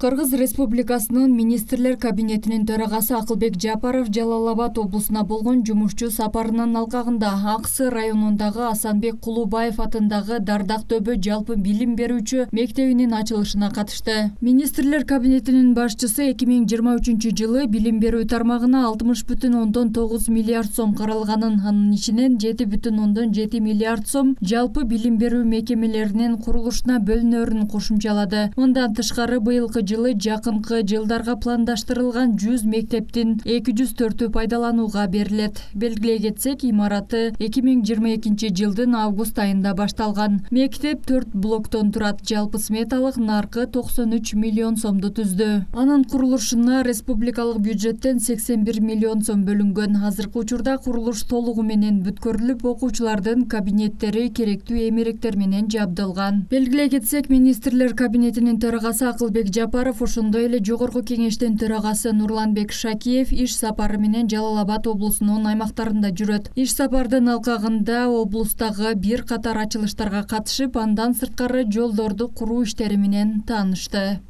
Кыргыз Республикасынын министрлер кабинетинин төрагасы Акылбек Жапаров Жалал-Абад облусуна болгон жумушчу сапарынын алкагында Аксы районундагы Асанбек Кулубаев атындагы Дардактөбө жалпы билим берүүчү мектебинин ачылышына катышты. Министрлер кабинетинин башчысы 2023-жылы билим берүү тармагына 60,9 миллиард сом каралганын, анын ичинен 7,7 миллиард сом жалпы билим берүү мекемелеринин курулушуна бөлүнөрүн кошумчалады. Мындан тышкары быйылкы жылы жакынкы жылдарга пландаштырылган 100 мектептин 204-ü пайдаланууга берилет. Белгилей кетсек, имараты 2022 жылдын август айында башталган. Мектеп 4 блоктон турат. Жалпы сметалык наркы 93 миллион сомду түздү. Анын курулушуна республикалык бюджеттен 81 миллион сом бөлүнгөн. Азыркы учурда курулуш толугу менен бүткөрүлүп, окуучулардын кабинеттери керектүү эмеректер менен жабдылган. Белгилей кетсек, министрлер кабинетинин төрагасы Акылбек Жапаров, ошондой эле жогорку кеңештин төрагасы Нурланбек Шакиев иш сапары менен Жалал-Абад облусунун аймактарында жүрөт. Иш сапардын алкагында облустагы бир катар ачылыштарга катышып, андан сырткары жолдорду куруу иштери менен таанышты.